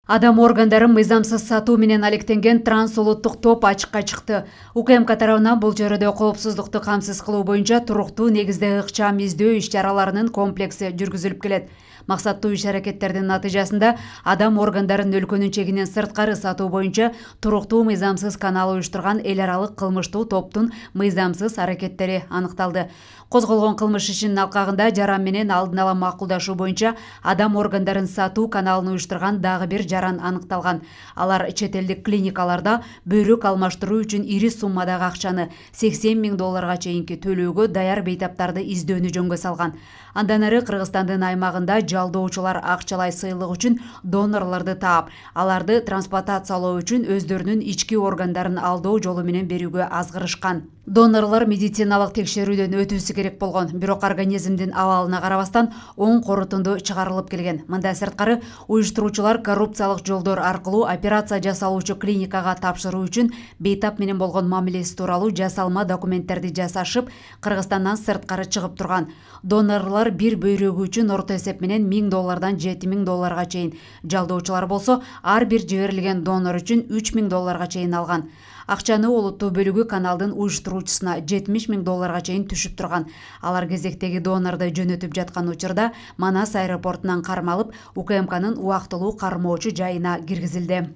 Адам органдарын мыйзамсыз сатуу менен алектенген трансулуттук топ ачыкка чыкты. УКМК тарабынан бул чөйрөдө коопсуздукту камсыз кылуу боюнча туруктуу негизде ыкчам издөө иш-чараларынын комплекси жүргүзүлүп келет. Максаттуу иш-аракеттердин натыйжасында адам органдарын өлкөнүн чегинен сырткары сатуу боюнча туруктуу мыйзамсыз канал уюштурган эл аралык кылмыштуу топтун мыйзамсыз аракеттери аныкталды. Козголгон кылмыш ишинин алкагында жаран менен алдын ала макулдашуу боюнча адам органдарын сатуу каналын уюштурган дагы бир жаран аныкталган. Алар чет элдик клиникаларда бөйрөк алмаштыруу үчүн ири суммадагы акчаны $80 000 чейинки төлөөгө даяр бейтаптарды издөөнү жөнгө салган. Андан ары Кыргызстандын аймагында жалдоочулар акчалай сыйлык үчүн донорлорду таап, аларды трансплантациялоо үчүн өздөрүнүн ички органдарын алдоо жолу менен берүүгө азгырышкан. Донорлор медициналык текшерүүдөн өтүүсү керек болгон, бирок организмдин абалына карабастан оң корутунду чыгарылып келген. Мындан сырткары уюштуруучулар коррупциялык жолдор аркылуу операция жасалуучу клиникага тапшыруу үчүн бейтап менен болгон мамилеси тууралуу жасалма документтерди жасашып, Кыргызстандан сырткары чыгып турган. Донорлор бир бөйрөгү үчүн орто эсеп менен $1000 $7000 чейин, жалдоочулар болсо ар бир жиберилген донор үчүн $3000 чейин алган. Акчаны олуттуу бөлүгү каналдын уюштуруучусуна $70 000 чейин түшүп турган. Алар кезектеги донорду жөнөтүп жаткан учурда Манас аэропортунан кармалып, УКМКнын убактылуу кармоочу жайына киргизилди.